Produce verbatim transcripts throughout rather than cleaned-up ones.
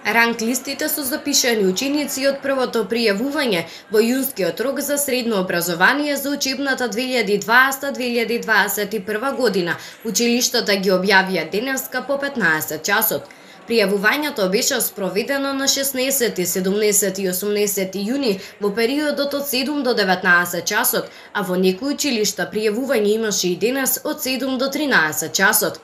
Ранг листите со запишани ученици од првото пријавување во јунскиот рок за средно образование за учебната две илјади и дваесета две илјади и дваесет и прва година. Училиштата ги објавија денеска по петнаесет часот. Пријавувањето беше спроведено на шеснаесети, седумнаесети и осумнаесети јуни во периодот од седум до деветнаесет часот, а во некои училишта пријавување имаше и денес од седум до тринаесет часот.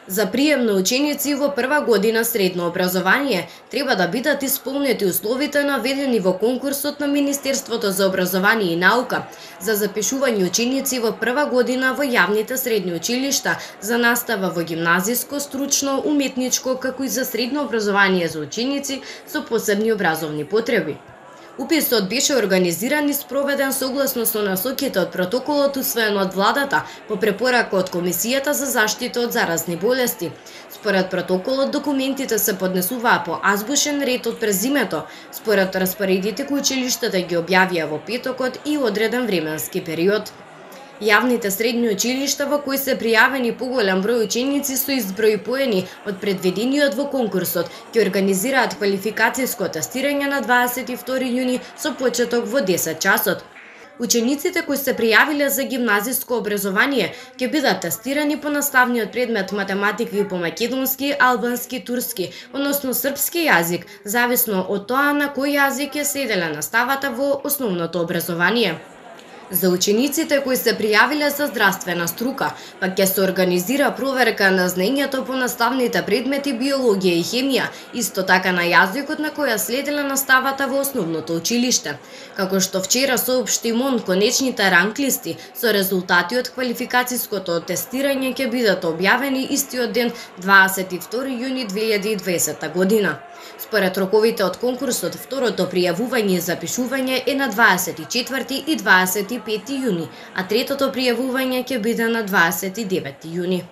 За прием на ученици во прва година средно образование треба да бидат исполнети условите наведени во конкурсот на Министерството за образование и наука за запишување ученици во прва година во јавните средни училишта за настава во гимназиско, стручно, уметничко, како и за средно образование за ученици со посебни образовни потреби. Уписот беше организиран и спроведен согласно со насоките од протоколот усвоен од владата по препорака од Комисијата за заштита од заразни болести. Според протоколот документите се поднесуваа по азбучен ред од презимето, според распоредите кои училиштата ги објавија во петокот и одреден временски период. Јавните средни училишта во кои се пријавени поголем број ученици со изброј поени од предвидениот во конкурсот ќе организираат квалификацијско тестирање на дваесет и втори јуни со почеток во десет часот. Учениците кои се пријавиле за гимназиско образование ќе бидат тестирани по наставниот предмет математика и по македонски, албански, турски, односно српски јазик, зависно од тоа на кој јазик е следела наставата во основното образование. За учениците кои се пријавиле за здравствена струка, пак ќе се организира проверка на знаењето по наставните предмети биологија и хемија, исто така на јазикот на која следела наставата во основното училиште. Како што вчера соопшти МОН, конечните ранг листи со резултати од квалификацијското тестирање ќе бидат објавени истиот ден дваесет и втори јуни две илјади и дваесета година. Според роковите од конкурсот, второто пријавување и запишување е на дваесет и четврти и дваесет и пети јуни, а третото пријавување ќе биде на дваесет и деветти јуни.